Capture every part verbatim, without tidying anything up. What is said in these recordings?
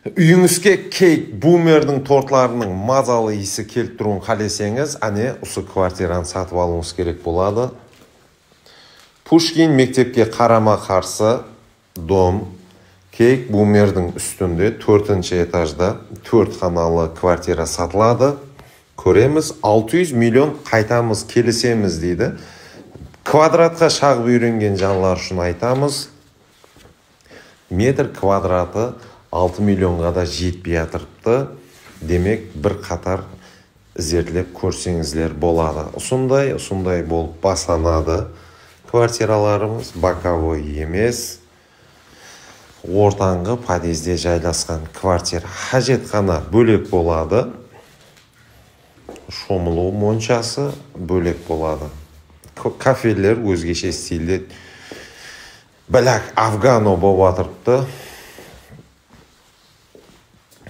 Үйіңізге кейк бумердің тортларының мазалы иісі келіп тұруын қалесеңіз, әне осы квартираны сатып алуыңыз керек болады. Пушкин мектепке қарама қарсы дом кейк бумердің үстінде төртінші этажда төрт қаналы квартира сатылады. Көреміз, алты жүз миллион қайтамыз, келісеміз дейді. Квадратқа шағып үйренген жанлар үшін айтамыз. Метр квадраты алты миллионға да жетпей жатырыпты. Демек, бір қатар зерделеп көрсеңіздер болады. Осындай, осындай болып басанады квартираларымыз, боковой емес. Ортаңғы подъезде жайласқан квартира. Хажетхана бөлек болады. Шомылу моншасы бөлек болады. Кафелер өзгеше стилде біләк Афгано болып атырыпты.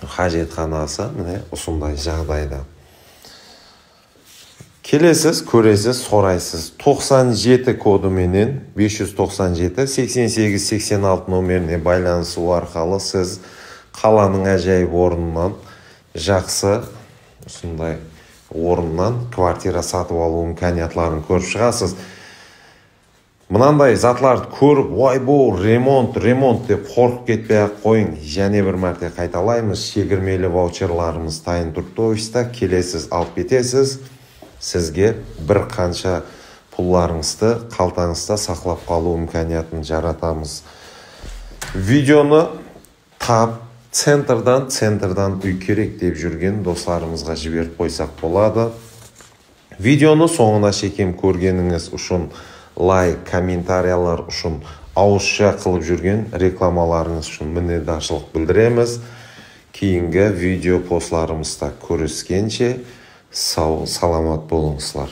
Хажетханасы міне осындай жағдайда. Келесіз, көресіз, сорайсыз. тоқсан жеті кодыменен бес жүз тоқсан жеті сексен сегіз сексен алты номеріне байланысу арқылы сіз қаланың әжайып орнынан, жақсы осындай орыннан квартира сатып алу имканиятларын көріп шығасыз. Мынандай затларды көріп, ой бұл ремонт, ремонт деп қорқып кетпей-ақ қойың. Және бір мәрте қайталаймыз, шегірмелі ваучерларымыз тайын туртовиста, келесіз, алып кетесіз. Сізге бір қанша пұлларыңызды қалтаңызда сақлап қалу имканиятын жаратамыз. Видеоны тап, центрдан, центрдан үй керек деп жүрген достарымызға жіберіп қойсақ болады. Видеоны соңына шекем көргеніңіз үшін лайк, комментариялар үшін, ауызша қылып жүрген рекламаларыңыз үшін міннетдаршылық білдіреміз. Кейінгі видео постларымызда көріскенше сау, саламат болыңызлар.